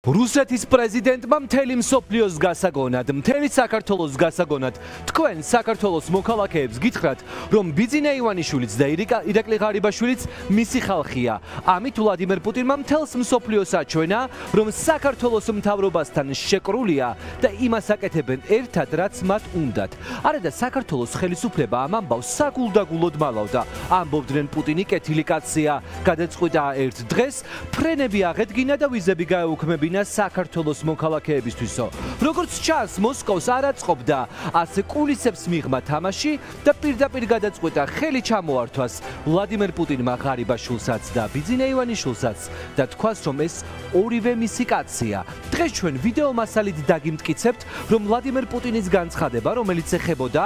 რუსეთის პრეზიდენტმა მთელი მსოფლიოს გასაგონად, მთელი საქართველოს გასაგონად, თქვენ საქართველოს მოქალაქეებს გითხრათ, რომ ბიძინა ივანიშვილიც და ირაკლი ღარიბაშვილიც მისი ხალხია. ამით ვლადიმერ პუტინმა მთელს მსოფლიოს აჩვენა, რომ საქართველოს მთავრობასთან შეკრულია და იმას აკეთებენ ერთად, რაც მათ უნდათ. არა და საქართველოს ხელისუფლება ამ ამბავს საგულდაგულოდ მალავდა. ამბობდნენ პუტინი კეთილი კაცია, გადაწყვიტა ერთ დღეს ფრენები აღედგინა და ვიზები გაეუქმებინა საქართველოს მოქალაქეებისთვისო. როგორც ჩანს, მოსკოვს არ აწყობდა ასე კულისებს მიღმა თამაში და პირდაპირ გადაწყვიტა ხელი ჩამოართვას ვლადიმერ პუტინმა ღარიბაშვილსაც და ბიძინა ივანიშვილსაც და თქვას, რომ ეს ორივე მისი კაცია. დღეს ჩვენ ვიდეო მასალით დაგიმტკიცებთ, რომ ვლადიმერ პუტინის განცხადება, რომელიც ეხებოდა,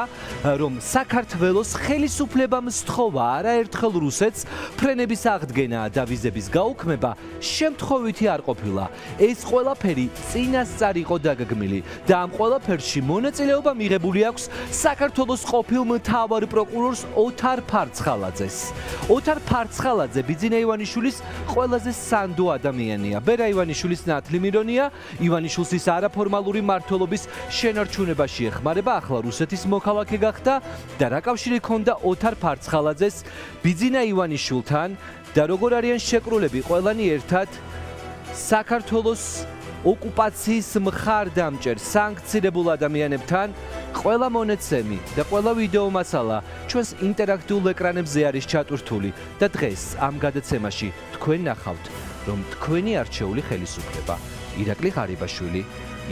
რომ საქართველოს ხელისუფლებამ სთხოვა არაერთხელ რუსეთს ფრენების აღდგენა და ვიზების გაუქმება, შემთხვევითი არ ყოფილა. ეს ყველაფერი წინასწარ იყო დაგეგმილი და ამ ყველაფერში მონაწილეობა მიღებული აქვს საქართველოს ყოფილ მთავარ პროკურორს ოთარ ფარცხალაძეს. ოთარ ფარცხალაძე ბიძინა ივანიშვილის ყველაზე სანდო ადამიანია. ბერა ივანიშვილის ნათლი მირონია, ივანიშვილს ის არაფორმალური მმართველობის შენარჩუნებაში ეხმარება, ახლა რუსეთის მოქალაქე გახდა და რა კავშირი ჰქონდა ოთარ ფარცხალაძეს ბიძინა ივანიშვილთან და როგორ არიან შეკრულები ყველანი ერთად საქართველოს ოკუპაციის მხარდამჭერ სანქცირებულ ადამიანებთან ყველა მონაცემი და ყველა ვიდეო მასალა ჩვენს ინტერაქტიულ ეკრანებზე არის ჩატვირთული და დღეს ამ გადაცემაში თქვენ ნახავთ, რომ თქვენი არჩეული ხელისუფლება ირაკლი ღარიბაშვილი,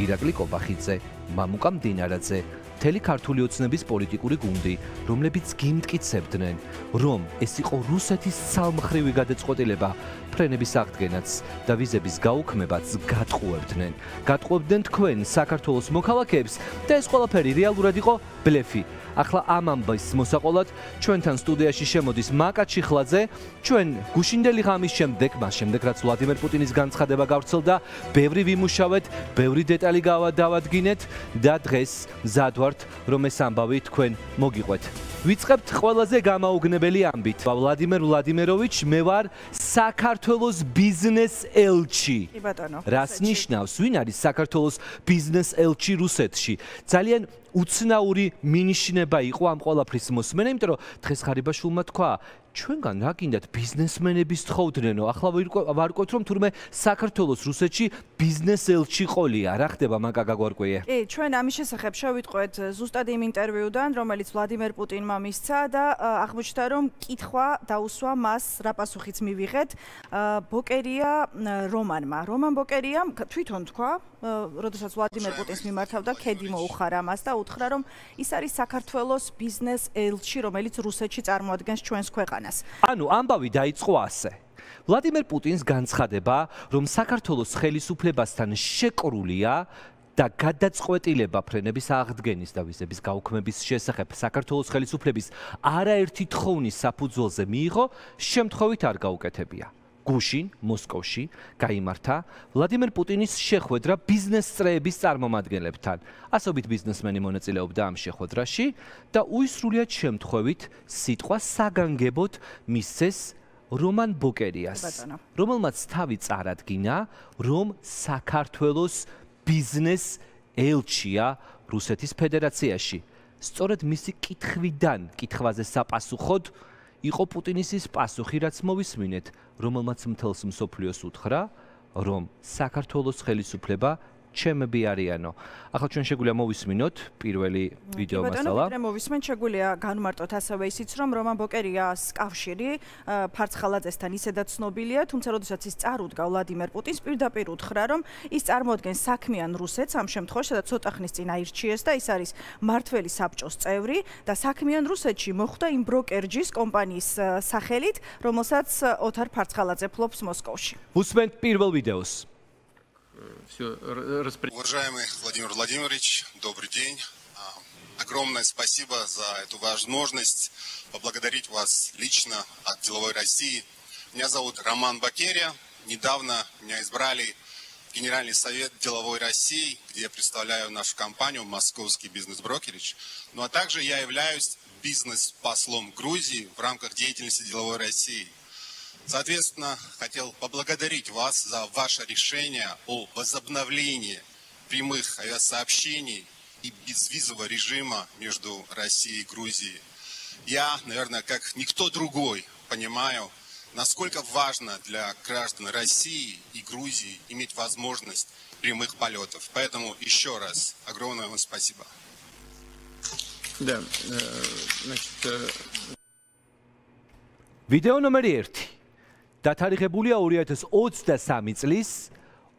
ირაკლი კობახიძე, მამუკა მდინარაძე, მთელი ქართული ოცნების პოლიტიკური გუნდი, რომლებიც გიმტკიცებდნენ, რომ ეს იყო რუსეთის ცალმხრივი გადაწყვეტილება, ფრენების აღდგენაც და ვიზების გაუქმებაც გატყუებდნენ. გატყუებდნენ თქვენ საქართველოს მოქალაქეებს და ეს ყველაფერი რეალურად იყო ბლეფი. ახლა ამ ამბის მოსაყოლად ჩვენთან სტუდიაში შემოდის მაკა ჩიხლაძე. ჩვენ გუშინდელი ღამის შემდეგ, მას შემდეგ რაც ვლადიმერ პუტინის განცხადება გავრცელდა, ბევრი ვიმუშავეთ, ბევრი დეტალი დავადგინეთ და დღეს მზად ვართ, რომ ეს ამბავი თქვენ მოგიყვეთ. ვიწყებთ ყველაზე გამაუგნებელი ამბით. ვლადიმერ ვლადიმეროვიჩ, მე ვარ საქართველოს ბიზნეს ელჩი. კი ბატონო. რას ნიშნავს? ვინ არის საქართველოს ბიზნეს ელჩი რუსეთში? ძალიან უცნაური მინიშნება იყო ამ ყველაფრის მოსმენა, იმიტომ რომ დღეს ღარიბაშვილმა თქვა, ჩვენგან რა გინდათ ბიზნესმენები სთხოვდნენო, ახლა ვარკვევთ, რომ თურმე საქართველოს რუსეთში ბიზნეს ელჩი ყოლია. რა ხდება მაკა გაგვარკვიე? კი, ჩვენ ამის შესახებ შევიტყვეთ ზუსტად იმ ინტერვიუდან, რომელიც ვლადიმერ პუტინმა მისცა და აღმოჩნდა, რომ კითხვა დაუსვა მას, რა პასუხიც მივიღეთ, ბოკერია რომან ბოკერიამ თვითონ თქვა, როდესაც ვლადიმერ პუტინს მიმართავდა, ქედი მოუხარა მას და უთხრა, რომ ის არის საქართველოს ბიზნეს ელჩი, რომელიც რუსეთში წარმოადგენს ჩვენს ქვეყანას. ანუ ამბავი დაიწყო ასე. ვლადიმერ პუტინს განცხადება, რომ საქართველოს ხელისუფლებასთან შეკრულია და გადაწყვეტილება ფრენების აღდგენის და ვიზების გაუქმების შესახებ საქართველოს ხელისუფლების არაერთი თხოვნის საფუძველზე მიიღო, შემთხვევით არ გაუკეთებია. გუშინ, მოსკოვში გაიმართა ვლადიმერ პუტინის შეხვედრა ბიზნეს წრეების წარმომადგენლებთან. ასობით ბიზნესმენი მონაწილეობდა ამ შეხვედრაში და უისრულიად შემთხვევით სიტყვა საგანგებოდ მისცეს რომან ბოკერიას, რომელმაც თავი წარადგინა, რომ საქართველოს ბიზნეს ელჩია რუსეთის ფედერაციაში. სწორედ მისი კითხვაზე საპასუხოდ იყო პუტინის ის პასუხი, რაც მოვისმინეთ, რომელმაც მთელს მსოფლიოს უთხრა, რომ საქართველოს ხელისუფლება ჩემები არიანო. ახლა ჩვენ შეგვიძლია მოვისმინოთ პირველი ვიდეო მასალა. ბატონო, მოვისმენთ, შეგვიძლია განვმარტოთ ასევე ისიც, რომ რომან ბოკერიას კავშირი ფარცხალაძესთან ისედაც ცნობილია, თუმცა როდესაც ის წარუდგა ვლადიმერ პუტინს, პირდაპირ უთხრა, რომ ის წარმოადგენს საქმიან რუსეთს ამ შემთხვევაში, სადაც ცოტა ხნის წინ აირჩიეს და ის არის მმართველი საბჭოს წევრი და საქმიან რუსეთში მოხვდა იმ ბროკერჯის კომპანიის სახელით, რომელსაც ოთარ ფარცხალაძე ფლობს მოსკოვში. უსმენთ პირველ ვიდეოს. Уважаемый Владимир Владимирович, добрый день. Огромное спасибо за эту возможность поблагодарить вас лично от Деловой России. Меня зовут Роман Бокерия. Недавно меня избрали в Генеральный совет Деловой России, где я представляю нашу компанию «Московский бизнес-брокеридж». Ну а также я являюсь бизнес-послом Грузии в рамках деятельности Деловой России. Соответственно, хотел поблагодарить вас за ваше решение о возобновлении прямых авиасообщений и безвизового режима между Россией и Грузией. Я, наверное, как никто другой понимаю, насколько важно для граждан России и Грузии иметь возможность прямых полетов. Поэтому еще раз огромное вам спасибо. Да, значит... Видео номер 1. დათარიღებულია 2023 წლის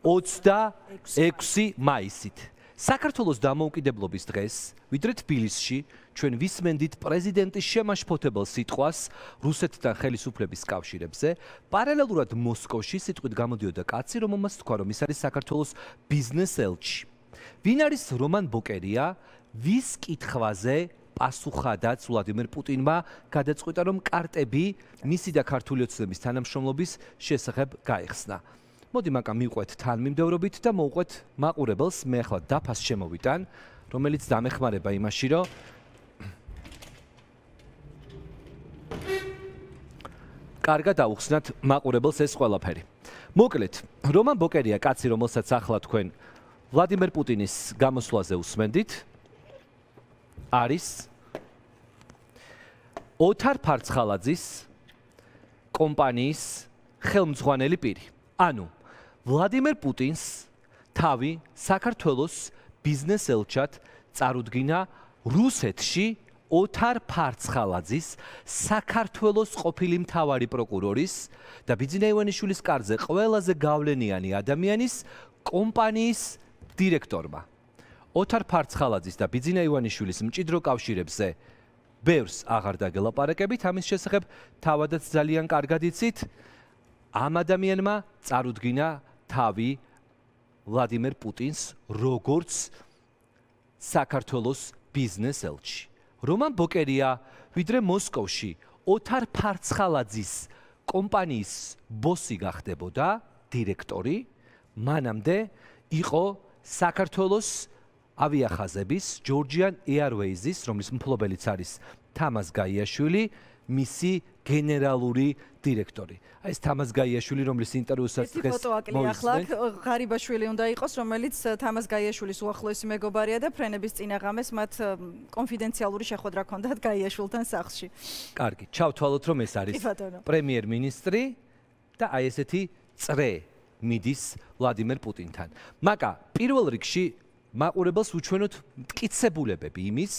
26 მაისით. საქართველოს დამოუკიდებლობის დღეს, ვიდრე თბილისში, ჩვენ ვისმენდით პრეზიდენტის შემაშფოთებელ სიტყვას რუსეთთან ხელისუფლების კავშირებზე, პარალელურად მოსკოვში სიტყვით გამოდიოდა კაცი, რომელმაც თქვა, რომ ის არის საქართველოს ბიზნეს ელჩი. ვინ არის რომან ბოკერია, ვის კითხვაზე პასუხადაც ვლადიმერ პუტინმა გადაწყვიტა, რომ კარტები მისი და ქართული ოცნების თანამშრომლობის შესახებ გაიხსნა. მოდი მაკა მივყვეთ თანმიმდევრობით და მოვყვეთ მაყურებელს, მე ახლა დაფას შემოვიტან, რომელიც დამეხმარება იმაში, რომ კარგად აუხსნათ მაყურებელს ეს ყველაფერი. მოკლედ, რომან ბოკერია კაცი, რომელსაც ახლა თქვენ ვლადიმერ პუტინის გამოსვლაზე უსმენდით, არის ოთარ ფარცხალაძის კომპანიის ხელმძღვანელი პირი. ანუ ვლადიმერ პუტინს თავი საქართველოს ბიზნეს ელჩად წარუდგინა რუსეთში ოთარ ფარცხალაძის საქართველოს ყოფილი მთავარი პროკურორის და ბიძინა ივანიშვილის კარზე ყველაზე გავლენიანი ადამიანის კომპანიის დირექტორმა. ოთარ ფარცხალაძის და ბიძინა ივანიშვილის მჭიდრო კავშირებზე ბევრს აღარ დაგელაპარაკებით, ამის შესახებ თავადაც ძალიან კარგად იცით. ამ ადამიანმა წარუდგინა თავი ვლადიმერ პუტინს როგორც საქართველოს ბიზნეს ელჩი. რომან ბოკერია ვიდრე მოსკოვში ოთარ ფარცხალაძის კომპანიის ბოსი გახდებოდა, დირექტორი, მანამდე იყო საქართველოს ავიახაზების Georgian Airways-ის, რომლის მფლობელიც არის თამაზ გაიაშვილი, მისი გენერალური დირექტორი. აი ეს თამაზ გაიაშვილი, რომლის ინტერვიუსაც დღეს მოისმენთ, ღარიბაშვილი უნდა იყოს, რომელიც თამაზ გაიაშვილის უახლოესი მეგობარია და ფრენების წინაღამეს მათ კონფიდენციალური შეხვედრა ჰქონდათ გაიაშვილთან სახლში. კარგი, ჩავთვალოთ, რომ ეს არის პრემიერ-მინისტრი და აი ესეთი წრე მიდის ვლადიმერ პუტინთან. მაკა პირველ რიგში მაყურებელს უჩვენოთ მტკიცებულებები იმის,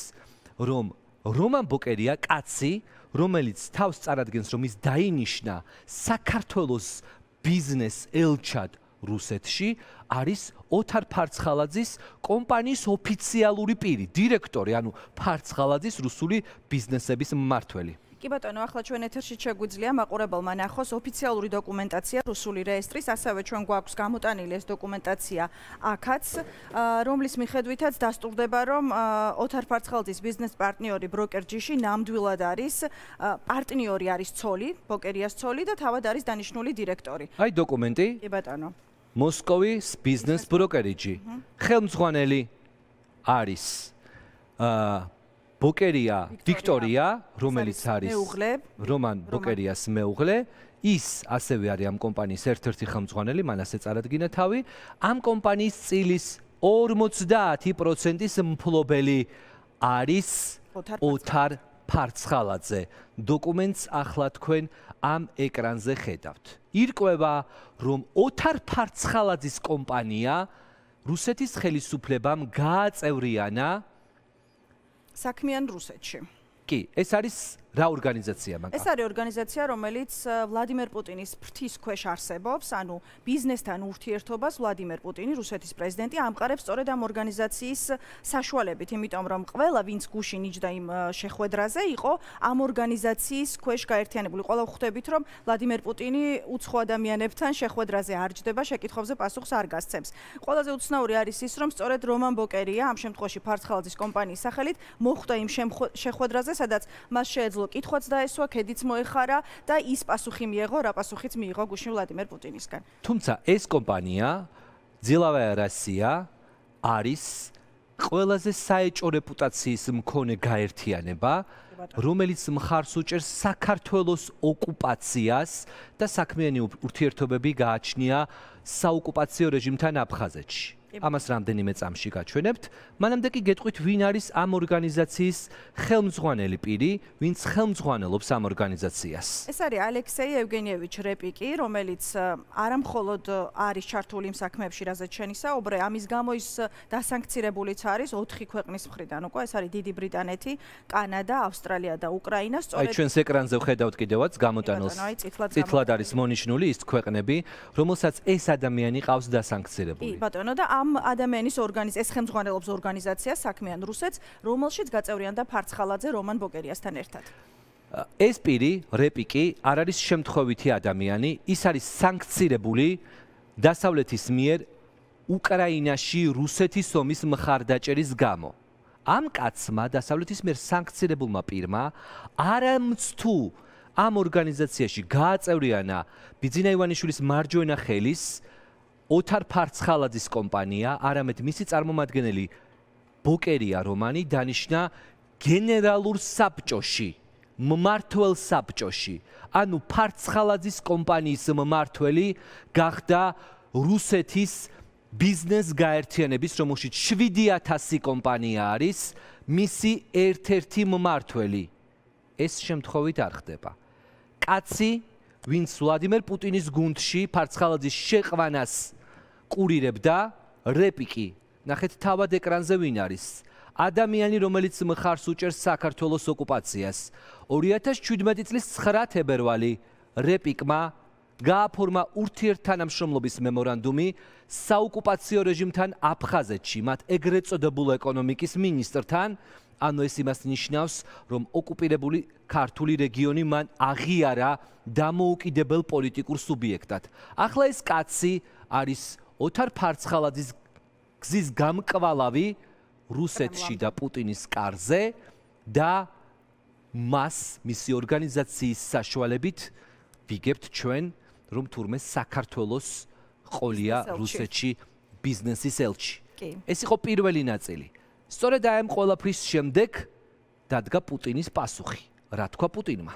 რომ რომან ბოკერია კაცი, რომელიც თავს წარადგენს, რომ ის დაინიშნა საქართველოს ბიზნეს ელჩად რუსეთში, არის ოთარ ფარცხალაძის კომპანიის ოფიციალური პირი, დირექტორი, ანუ ფარცხალაძის რუსული ბიზნესების მმართველი. კი ბატონო, ახლა ჩვენ ეთერში შეგვიძლია მაყურებელმა ნახოს ოფიციალური დოკუმენტაცია რუსული რეესტრის, ასევე ჩვენ გვაქვს გამოტანილი ეს დოკუმენტაცია აქაც, რომლის მიხედვითაც დასტურდება, რომ ოთარ ფარცხალაძის ბიზნეს პარტნიორი ბროკერჯიში ნამდვილად არის პარტნიორი არის ცოლი, ბოკერიას ცოლი და თავად არის დანიშნული დირექტორი. აი დოკუმენტი. კი ბატონო. მოსკოვის ბიზნეს ბროკერიჯი. ხელმძღვანელი არის ბოკერია ვიქტორია, რომელიც არის რომან ბოკერიას მეუღლე, ის ასევე არის ამ კომპანიის ერთ-ერთი ხელმძღვანელი, მან ასე წარადგინა თავი. ამ კომპანიის წილის 50%-ის მფლობელი არის ოთარ ფარცხალაძე. დოკუმენტს ახლა თქვენ ამ ეკრანზე ხედავთ. ირკვევა, რომ ოთარ ფარცხალაძის კომპანია რუსეთის ხელისუფლებამ გააწევრიანა საქმიან რუსეთში. კი, ეს არის რა ორგანიზაცია მაგა? ეს არის ორგანიზაცია, რომელიც ვლადიმერ პუტინის ფრთის ქვეშ არსებობს, ანუ ბიზნესთან ურთიერთობას ვლადიმერ პუტინი, რუსეთის პრეზიდენტი, ამყარებს სწორედ ამ ორგანიზაციის საშუალებით, იმიტომ რომ ყველა ვინც გუშინ იჯდა იმ შეხვედრაზე, იყო ამ ორგანიზაციის ქვეშ გაერთიანებული. ყველა ვხვდებით, რომ ვლადიმერ პუტინი უცხო ადამიანებთან შეხვედრაზე არ ჯდება, შეკითხვებზე პასუხს არ გასცემს. ყველაზე უცნაური არის ის, რომ სწორედ რომან ბოკერია, ამ შემთხვევაში ფარცხალაძის კომპანიის სახელით, მოხვდა იმ შეხვედრაზე, სადაც მას შეეძლო კითხვაც დაესვა, ქედიც მოეხარა და ის პასუხი მიიღო, რა პასუხიც მიიღო გუშინ ვლადიმერ პუტინისგან. თუმცა ეს კომპანია, ძლავაია რასია, არის ყველაზე საეჭო რეპუტაციის მქონე გაერთიანება, რომელიც მხარს უჭერს საქართველოს ოკუპაციას და საქმიანი ურთიერთობები გააჩნია საოკუპაციო რეჟიმთან აფხაზეთში. ამას რამდენიმე წამში გაჩვენებთ. მანამდე კი გეტყვით, ვინ არის ამ ორგანიზაციის ხელმძღვანელი პირი, ვინც ხელმძღვანელობს ამ ორგანიზაციას. ეს არის ალექსეი ევგენიევიჩ რეპიკი, რომელიც არა მხოლოდ არის ჩართული იმ საქმეებში, რაზეც შენი საუბრე, ამის გამო ის დასანქცირებულიც არის 4 ქვეყნის მხრიდან. უკვე ეს არის დიდი ბრიტანეთი, კანადა, ავსტრალია და უკრაინა. აი ჩვენს ეკრანზე ვხედავთ კიდევაც გამოტანილს. წითლად არის მონიშნული ის ქვეყნები, რომელსაც ეს ადამიანი ყავს დასანქცირებული. კი, ბატონო და ამ ადამიანის ეს ხელმძღვანელობს ორგანიზაციას საქმიან რუსეთს, რომელშიც გაწევრიანდა ფარცხალაძე რომან ბოკერიასთან ერთად. ეს პირი, რეპიკი, არ არის შემთხვევითი ადამიანი, ის არის სანქცირებული დასავლეთის მიერ უკრაინაში რუსეთის ომის მხარდაჭერის გამო. ამ კაცმა დასავლეთის მიერ სანქცირებულმა პირმა არამც თუ ამ ორგანიზაციაში გააწევრიანა ბიძინა ივანიშვილის მარჯვენა ხელის ოთარ ფარცხალაძის კომპანია, არამედ მისი წარმომადგენელი ბოკერია რომანი დანიშნა გენერალურ საბჭოში, მმართველ საბჭოში. ანუ ფარცხალაძის კომპანიის მმართველი გახდა რუსეთის ბიზნეს გაერთიანების, რომელშიც 7000 კომპანია არის, მისი ერთ-ერთი მმართველი. ეს შემთხვევით არ ხდება. კაცი, ვინც ვლადიმერ პუტინის გუნდში ფარცხალაძის შეყვანას კურირებდა, რეპიკი. ნახეთ თავად ეკრანზე ვინ არის. ადამიანი, რომელიც მხარს უჭერს საქართველოს ოკუპაციას. 2017 წლის 9 თებერვალი რეპიკმა გააფორმა ურთიერთთანამშრომლობის მემორანდუმი საოკუპაციო რეჟიმთან აფხაზეთში, მათ ეგრეთ წოდებულ ეკონომიკის მინისტრთან. ანუ ეს იმას ნიშნავს, რომ ოკუპირებული ქართული რეგიონი მან აღიარა დამოუკიდებელ პოლიტიკურ სუბიექტად. ახლა ეს კაცი არის ოთარ ფარცხალაძის გზის გამკვალავი რუსეთში და პუტინის კარზე და მას მისი ორგანიზაციის საშუალებით ვიგებთ ჩვენ, რომ თურმე საქართველოს ყოლია რუსეთში ბიზნესის ელჩი. ეს იყო პირველი ნაწილი. სწორედ ამ ყველაფრის შემდეგ დადგა პუტინის პასუხი. რა თქვა პუტინმა?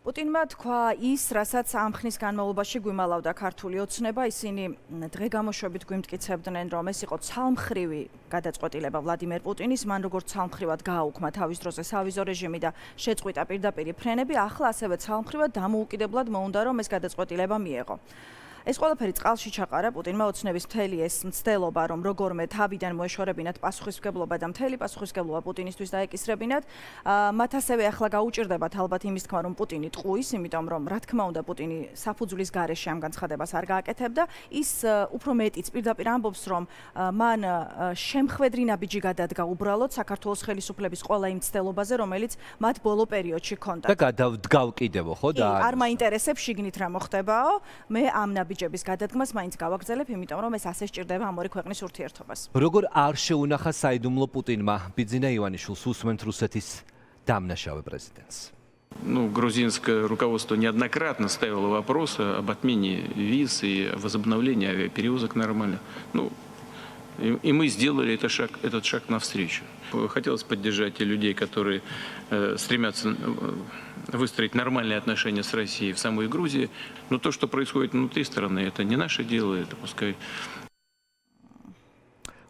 პუტინმა თქვა ის, რასაც ამ ხნის განმავლობაში გვიმალავდა ქართული ოცნება, ისინი დღე გამოშვებით გვიმტკიცებდნენ, რომ ეს იყო ცალმხრივი გადაწყვეტილება ვლადიმერ პუტინის, მან როგორც ცალმხრივად გააუქმა თავის დროზე სავიზო რეჟიმი და შეწყვიტა პირდაპირი ფრენები, ახლა ასევე ცალმხრივად დამოუკიდებლად მოუნდა, რომ ეს გადაწყვეტილება მიეღო. ეს ყველაფერი წყალში ჩაყარა პუტინმა ოცნების მთელი ეს მცდელობა, რომ როგორმე თავიდან მოეშორებინათ პასუხისმგებლობა და მთელი პასუხისმგებლობა პუტინისთვის დაეკისრებინათ. მათ ასევე ახლა გაუჭირდებათ ალბათ იმის თქმა, რომ პუტინი ტყუის, იმიტომ რომ რა თქმა უნდა პუტინი საფუძვლის გარეშე ამ განცხადებას არ გააკეთებდა. ის უფრო მეტიც პირდაპირ ამბობს, რომ მან შემხვედრი ნაბიჯი გადადგა უბრალოდ საქართველოს ხელისუფლების ყველა იმ მცდელობაზე, რომელიც მათ ბოლო პერიოდში ჰქონდათ. და გადავდგავ კიდევ, ხო და არ მაინტერესებს შიგნით რა მოხდებაო, მე ამ ნაბიჯების გადადგმას მაინც გავაგრძელებ, იმიტომ რომ ეს ასე სჭირდება ამ ორი ქვეყნის ურთიერთობას. როგორ არ შეუნახა საიდუმლო путинმა ბიძინა ივანიშვილს უსმენთ რუსეთის დამნაშავე президентს? Ну, грузинское руководство неоднократно ставило вопрос об отмене виз и возобновлении авиаперевозок нормально. Ну, и мы сделали этот шаг навстречу. Хотелось поддержать и людей, которые стремятся выстроить нормальные отношения с Россией в самой Грузии. Но то, что происходит внутри страны, это не наше дело, это пускай...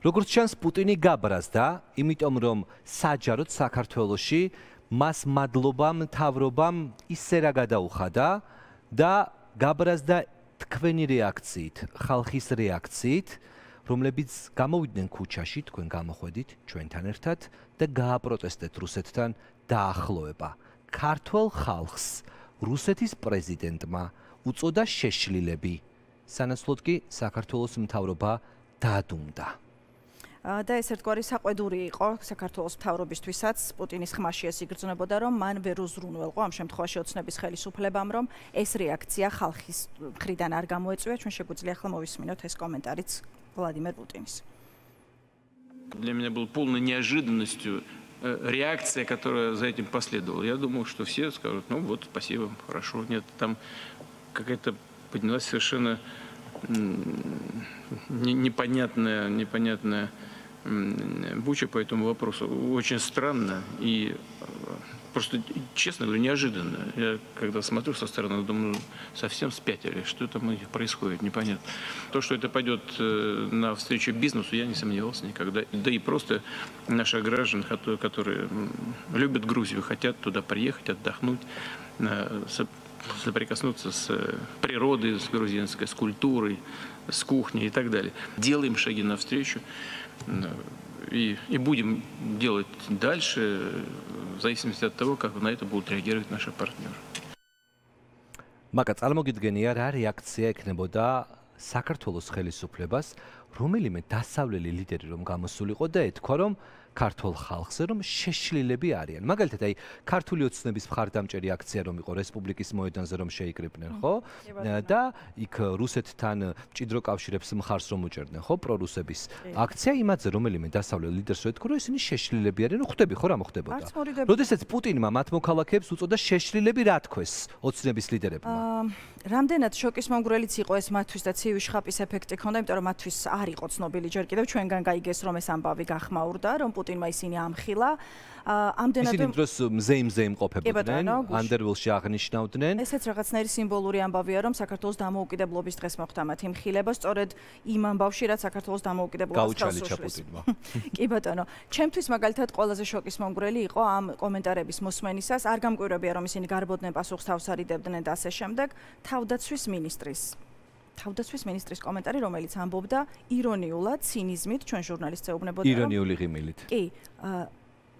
როგორც ჩანს, პუტინი გაბრაზდა, იმიტომ რომ საჯაროდ საქართველოში მას მადლობა მთავრობამ ისე რა გადაუხადა და გაბრაზდა თქვენი რეაქციით, ხალხის რეაქციით, რომლებიც გამოვიდნენ ქუჩაში, თქვენ გამოხვედით ჩვენთან ერთად და გააპროტესტეთ რუსეთთან დაახლოება. ქართველ ხალხს რუსეთის პრეზიდენტმა უწოდა შეშლილები. სანაცვლოდ კი საქართველოს მთავრობა დაადუმდა. და ეს ერთგვარი საყვედური იყო საქართველოს მთავრობისთვისაც, პუტინის ხმაში ეს იგრძნობოდა, რომ მან ვერ უზრუნველყო ამ შემთხვევაში ოცნების ხელისუფლებამ, რომ ეს რეაქცია ხალხის მხრიდან არ გამოეწვია. ჩვენ შეგვიძლია ახლა მოვისმინოთ ეს კომენტარიც ვლადიმერ პუტინის. Для меня был полной неожиданностью реакция, которая за этим последовала. Я думал, что все скажут, ну вот, спасибо, хорошо. Нет, там какая-то поднялась совершенно непонятная Буча по этому вопросу очень странно и просто, честно говоря, неожиданно. Я когда смотрю со стороны, думаю, совсем спятили, что там у них происходит, непонятно. То, что это пойдет навстречу бизнесу, я не сомневался никогда. Да и просто наших граждан, которые любят Грузию, хотят туда приехать, отдохнуть, соприкоснуться с природой, с грузинской, с культурой, с кухней и так далее. Делаем шаги навстречу и будем делать дальше, в зависимости от того, как на это будут реагировать наши партнеры. Მაგა წარმოგიდგენია რა რეაქცია ექნებოდა საქართველოს ხელისუფლებას, რომელიმე დასავლელი ლიდერი რომ გამოსულიყო და ეთქვა რომ ქართულ ხალხზე რომ შეშლილები არიან. მაგალითად, აი ქართული ოცნების მხარდამჭერი აქცია რომ იყო რესპუბლიკის მოედანზე რომ შეიკრიბნენ, ხო? და იქ რუსეთთან მჭიდრო კავშირებს მხარს რომ უჭერდნენ, ხო, პრორუსების აქცია იმათზე რომელიმე დასავლელი ლიდერს ეთქვა რომ ისინი შეშლილები არიან, ნუ ხვდები ხო რა მოხდებოდა. როდესაც პუტინმა მათ მოქალაქეებს უწოდა შეშლილები რა თქვეს ოცნების ლიდერებმა. რამდენად შოკის მომგვრელიც იყო ეს მათთვის და ცივი შხაპის ეფექტი ჰქონდა, იმიტომ რომ მათთვის არ იყო ცნობილი ჯერ კიდევ ჩვენგან გაიგეს რომ ეს ამბავი გახმაურდა, რომ პუტინმა ისინი ამხილა. ამდენად ისინი დროს მზე იმყოფებოდნენ, ანდერვილში აღნიშნავდნენ. ესეც რაღაცნაირი სიმბოლური ამბავია, რომ საქართველოს დამოუკიდებლობის დღეს მოხდა მათი მხილება, სწორედ იმ ამბავში, რაც საქართველოს დამოუკიდებლობას ხელს პუტინმა. კი ბატონო, ჩემთვის მაგალითად ყველაზე შოკის მომგვრელი იყო ამ კომენტარების მოსმენისას, არ გამკვირვებია რომ ისინი გარბოდნენ პასუხს თავს არიდებდნენ და ასე შემდეგ. თავდაცვის მინისტრის კომენტარი, რომელიც ამბობდა ირონიულად, ცინიზმით, ჩვენ ჟურნალისტს ეუბნებოდა. ირონიული ღიმილით. კი,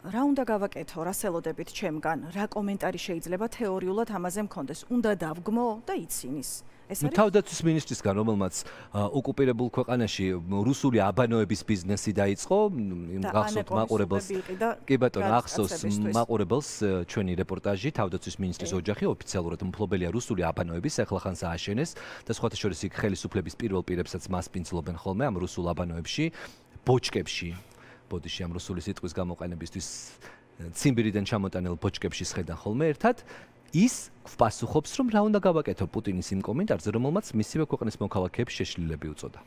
რა უნდა გავაკეთო, რა სელოდებით ჩემგან, რა კომენტარი შეიძლება თეორიულად ამაზე მქონდეს, უნდა დავგმო და იცინის. თავდაცვის მინისტრისგან, რომელმაც ოკუპირებულ ქვეყანაში რუსული აბანოების ბიზნესი დაიწყო, გახსოვთ მაყურებელს. კი ბატონო, ახსოვს მაყურებელს ჩვენი რეპორტაჟი, თავდაცვის მინისტრის ოჯახი ოფიციალურად მფლობელია რუსული აბანოების, ახლახანს ააშენეს და სხვათა შორის იქ ხელისუფლების პირველ პირებსაც მასპინძლობენ ხოლმე ამ რუსულ აბანოებში, ბოჭკებში. ბოდიში ამ რუსული სიტყვის გამოყენებისთვის ციმბირიდან ჩამოტანილ ბოჭკებში შედან ხოლმე ერთად. ის გვპასუხობს, რომ რა უნდა გავაკეთო პუტინის იმ კომენტარზე, რომელმაც მისივე ქვეყნის მოქალაქეებს შეშლილები უწოდა.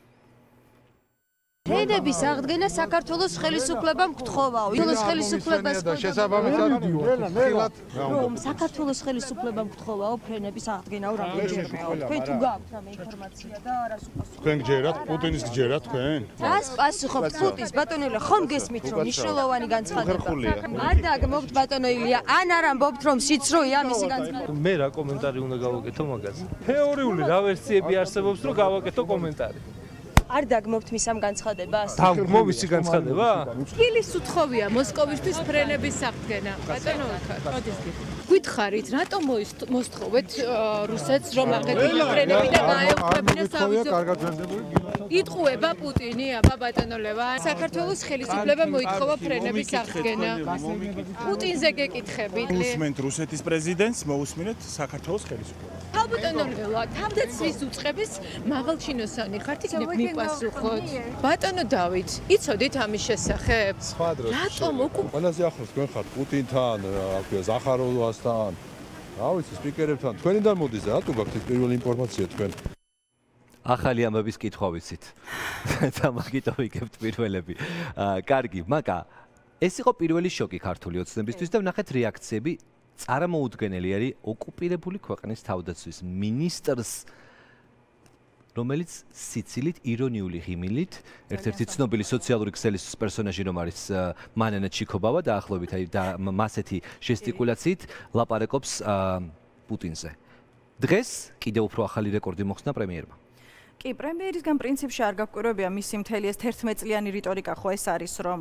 ფრენების აღდგენა საქართველოს ხელისუფლებამ გთხოვაო. საქართველოს ხელისუფლებას საქართველოს ხელისუფლებამ გთხოვაო ფრენების აღდგენაო რამდენჯერმეო. თქვენ თუ გაქვთ ამ ინფორმაცია და რას უპასუხობთ? თქვენ გჯერათ, პუტინის გჯერათ თქვენ? რას პასუხობთ პუტინს? ბატონო, ხომ გესმით რომ მნიშვნელოვანი განცხადება? არ დაგმოგთ ბატონო ილია, ან არ ამბობთ რომ სიცრუეა მისი განცხადება? მე რა კომენტარი უნდა გავაკეთო მაგაზე? თეორიული რა ვერსიები არსებობს რომ გავაკეთო კომენტარი? არ დაგმობთ მის ამ განცხადებას? დაგმო მისი განცხადება? თბილის უთხოვია მოსკოვისთვის ფრენების აღდგენა. ბატონო, მოდის გითხარით, რატომ მოსთხოვეთ რუსეთს რომ აღედგინა ფრენები და გაეუქმებინა სავიზო? იტყუება პუტინი, აბა ბატონო ლევან. საქართველოს ხელისუფლება მოითხოვა ფრენების აღდგენა. პუტინზე გეკითხებით. უსმენთ რუსეთის პრეზიდენტს, მოусმინეთ საქართველოს ხელისუფლებას. ბატონო ლევან, თავდაცვის უწყების მაღალჩინოსანი ხართ, იქნებ მიპასუხოთ. ბატონო დავით, იცოდით ამის შესახებ? რატომ ყველაზე ახლოს თქვენ ხართ პუტინთან, რა ქვია, ზახაროვასთან, რა ვიცი, სპიკერებთან. თქვენიდან მოდის რა, თუ გაქვთ პირველი ინფორმაცია თქვენ? ახალი ამბების კითხვა ვიცით. და მაგით ვიგებთ პირველები. კარგი, მაგა ეს იყო პირველი შოკი ქართული ოცნებისთვის და ვნახეთ რეაქციები წარმოუდგენელი არის ოკუპირებული ქვეყნის თავდაცვის მინისტრს, რომელიც სიცილით ირონიული ღიმილით, ერთ-ერთი ცნობილი სოციალური ქსელის პერსონაჟი რომ არის მანანა ჩიკობავა დაახლოებით, აი და მასეთი ჟესტიკულაციით ლაპარაკობს პუტინზე. დღეს კიდევ უფრო ახალი რეკორდი მოხსნა პრემიერმა. კი, პრემიერისგან პრინციპში არ გაგვკვირვებია მისი მთელი ეს 11 წლიანი რიტორიკა ხო ეს არის რომ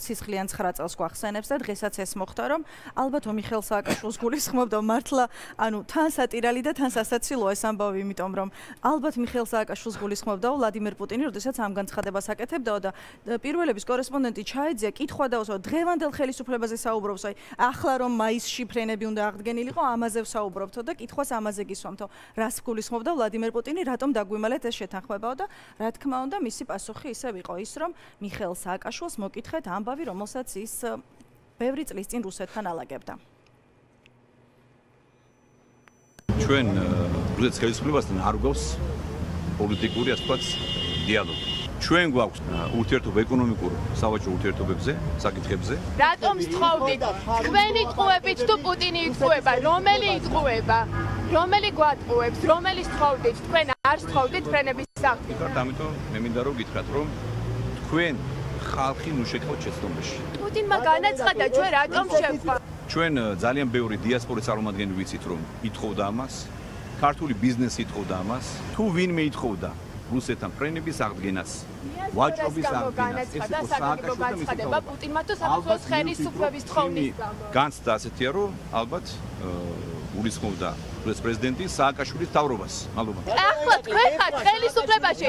სისხლიან 9 წელს გვახსენებს და დღესაც ეს მოხდა რომ ალბათ მიხეილ სააკაშვილს გულისხმობდა მართლა ანუ თან სატირალი და თან სასაცილოა ეს ამბავი იმიტომ რომ ალბათ მიხეილ სააკაშვილს გულისხმობდა ვლადიმერ პუტინი როდესაც ამ განცხადებას აკეთებდა და პირველების კორესპონდენტი ჩაეძია კითხვა დაუსვა დღევანდელ ხელისუფლებაზე საუბრობს აი ახლა რომ მაისში ფრენები უნდა აღდგენილიყო ამაზე ვსაუბრობთო და კითხვას ამაზე გისვამთო რას გულისხმობდა ვლადიმერ პუტინი რატომ დაგვიმალეთ შეთანხმებაო და რა თქმა უნდა მისი პასუხი ისევ იყო ის რომ მიხეილ სააკაშვილს მოკითხეთ ამბავი რომელსაც ის ბევრი წლის წინ რუსეთთან ალაგებდა. ჩვენ რუსეთის ხელისუფლებასთან არ გვაქვს პოლიტიკური ასე ვთქვათ დიალოგი. ჩვენ გვაქვს ურთიერთობა ეკონომიკურ სავაჭრო ურთიერთობებზე, საკითხებზე. რატომ სწავლდით? თქვენი ტყუებით თუ პუტინი იტყუება, რომელი იტყუება? რომელი გვატყუებს, რომელი სწავლდით? თქვენ არ სწავლდით ფრენების სახით. ამიტომ მე მინდა რომ გითხრათ, რომ თქვენ ხალხი ნუ შეგხვდეთ შეცდომაში. პუტინმა განაცხადა, ჩვენ რატომ შევხვა? ჩვენ ძალიან ბევრი დიასპორის წარმომადგენელი ვიცით, რომ ითხოვდა ამას. ქართული ბიზნესი ითხოვდა ამას. თუ ვინმე ითხოვდა რუსეთთან ფრენების აღდგენას, ვაჭრობის აღდგენას, ეს იყო სააკაშვილის განცხადება პუტინმა თუ საქართველოს ხელისუფლების თხოვნით გამო. განცდა ასეთია, რომ ალბათ გულისხმობდა რუსეთის პრეზიდენტი სააკაშვილის მთავრობას. მადლობა. ახლა თქვენ ხართ ხელისუფლებაში.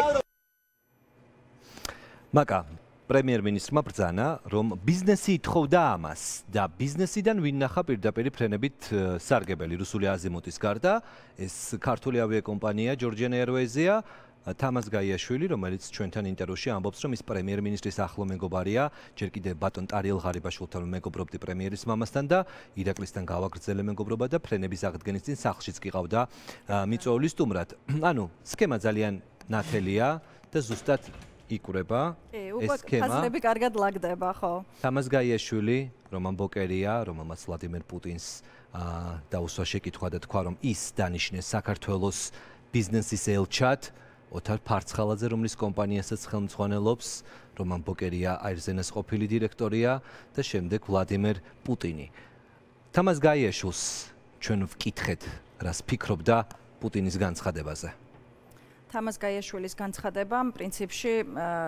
მაკა პრემიერ-მინისტრმა ბრძანა, რომ ბიზნესი ითხოვდა ამას და ბიზნესიდან ვინახა პირდაპირ ფრენებით სარგებელი რუსული აზიმუტის გარდა, ეს ქართული ავიაკომპანია Georgian Airways-ია, თამაზ გაიაშვილი, რომელიც ჩვენთან ინტერვიუში ამბობს, რომ ის პრემიერ-მინისტრის ახლო მეგობარია, ჯერ კიდევ ბატონ ტარიელ ღარიბაშვილთან მეგობრობდი პრემიერის მამასთან და ირაკლისთან გავაგრძელე მეგობრობა და ფრენების აღდგენის წინ სახლშიც გიყავდა მიწვეული სტუმრად. ანუ სქემა ძალიან ნათელია და ზუსტად იკვრება ეს სქემა. ფაზლები კარგად ლაგდება, ხო? თამაზ გაიაშვილი, რომან ბოკერია, რომელმაც ვლადიმერ პუტინს დაუსვა შეკითხვა და თქვა, რომ ის დანიშნეს საქართველოს ბიზნესის ელჩად, ოთარ ფარცხალაძე, რომლის კომპანიასაც ხელმძღვანელობს, რომან ბოკერია აირზენას ყოფილი დირექტორია და შემდეგ ვლადიმერ პუტინი. თამაზ გაიაშვილს ჩვენ ვკითხეთ, რას ფიქრობდა პუტინის განცხადებაზე. თამაზ გაიაშვილის განცხადებამ პრინციპში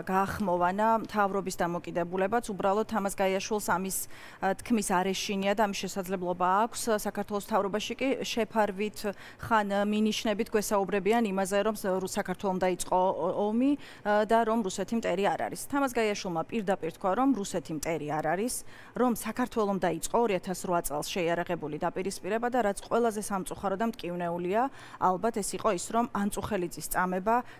გაახმოვანა მთავრობის დამოკიდებულებაც. უბრალოდ თამაზ გაიაშვილს ამის თქმის არ ეშინია და ამის შესაძლებლობა აქვს. საქართველოს მთავრობაში კი შეფარვით ხან მინიშნებით გვესაუბრებიან იმაზე, რომ საქართველომ დაიწყო ომი და რომ რუსეთი მტერი არ არის. თამაზ გაიაშვილმა პირდაპირ თქვა, რომ რუსეთი მტერი არ არის, რომ საქართველომ დაიწყო 2008 წელს შეიარაღებული დაპირისპირება და რაც ყველაზე სამწუხარო და მტკივნეულია, ალბათ ეს იყო ის, რომ ანწუხელიძის წამება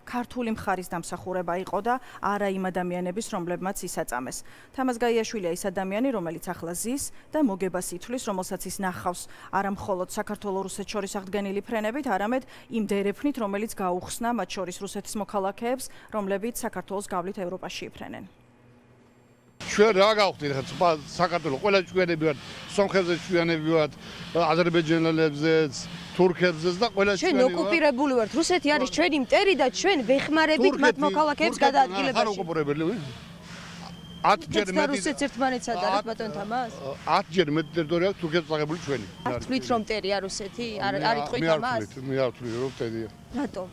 ქართული მხარის დამსახურება იყო და არა იმ ადამიანების, რომლებმაც ისაწამეს. თამაზ გაიაშვილია ის ადამიანი, რომელიც ახლა ზის და მოგებას ითვლის, რომელსაც ის ნახავს არა მხოლოდ საქართველოს-რუსეთს შორის აღდგენილი ფრენებით, არამედ იმ დერეფნით, რომელიც გაუხსნა მათ შორის რუსეთის მოქალაქეებს, რომლებიც საქართველოს გავლით ევროპაში იფრენენ. ჩვენ რა გავხდით ხა საქართველოს ყველა ჩვენები ვართ, სომხებზე ჩვენები ვართ, აზერბაიჯანელებზეც, თურქებზეც და ყველა ჩვენ ოკუპირებული ვართ. რუსეთი არის ჩვენი მტერი და ჩვენ ვეხმარებით მათ მოქალაქეებს გადაადგილებაში. არ ოკუპირებული ვინ? 10 ჯერ მეტი რუსეთს ერთმანეთს ადარებს ბატონ თამაზ? 10 ჯერ მეტი ტერიტორია თურქეთს წაღებული ჩვენი. არ თვლით რომ მტერია რუსეთი? არ იტყვით ამას? მე არ ვთვლი რომ მტერია. რატო?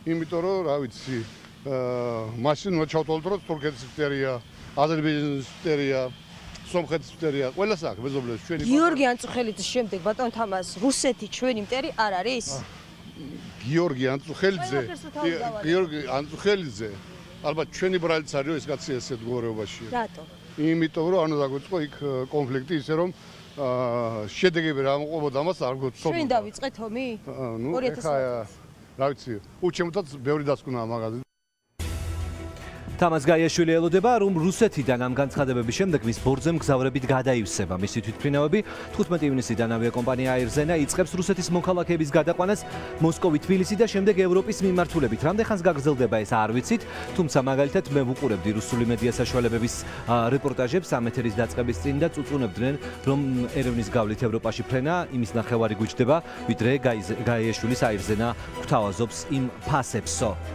იმიტომ რომ რა ვიცი, მაშინ მოჩავთვალოთ რომ თურქეთის მტერია, აზერბაიჯანის მტერია, სომხეთის მტერია, ყველას აქვს მეზობლებს ჩვენი. გიორგი ანწუხელიძის შემდეგ ბატონ თამაზ, რუსეთი ჩვენი მტერი არ არის? გიორგი ანწუხელიძე ალბათ ჩვენი ბრალიც არის ეს კაცი ესეთ მდგომარეობაშია. რატო? იმიტომ რომ ანუ დაგვიწყო იქ კონფლიქტი ისე რომ შედეგები რა მოყვებოდა ამას არ გვცნობ. ჩვენ დავიწყეთ ომი? 2000 წელს. რა ვიცი, უჩემთაც ბევრი დასკვნა მაგაზე. თამაზ გაიაშვილი ელოდება, რომ რუსეთიდან ამ განცხადებების შემდეგ მის ბორცვზე მგზავრებით გადაივსება მისი თვითმფრინავები. 15 ივნისიდან ავიაკომპანია აირზენა იწყებს რუსეთის მოქალაქეების გადაყვანას მოსკოვი, თბილისი და შემდეგ ევროპის მიმართულებით. რამდენ ხანს გაგრძელდება ეს არ ვიცით, თუმცა მაგალითად მე ვუყურებდი რუსული მედია საშუალებების რეპორტაჟებს ამ ეთერის დაწყების წინ და წუწუნებდნენ, რომ ერევნის გავლით ევროპაში ფრენა იმის ნახევარი გვიჩდება, ვიდრე გაიაშვილის აირზენა გვთავაზობს იმ ფასებსო.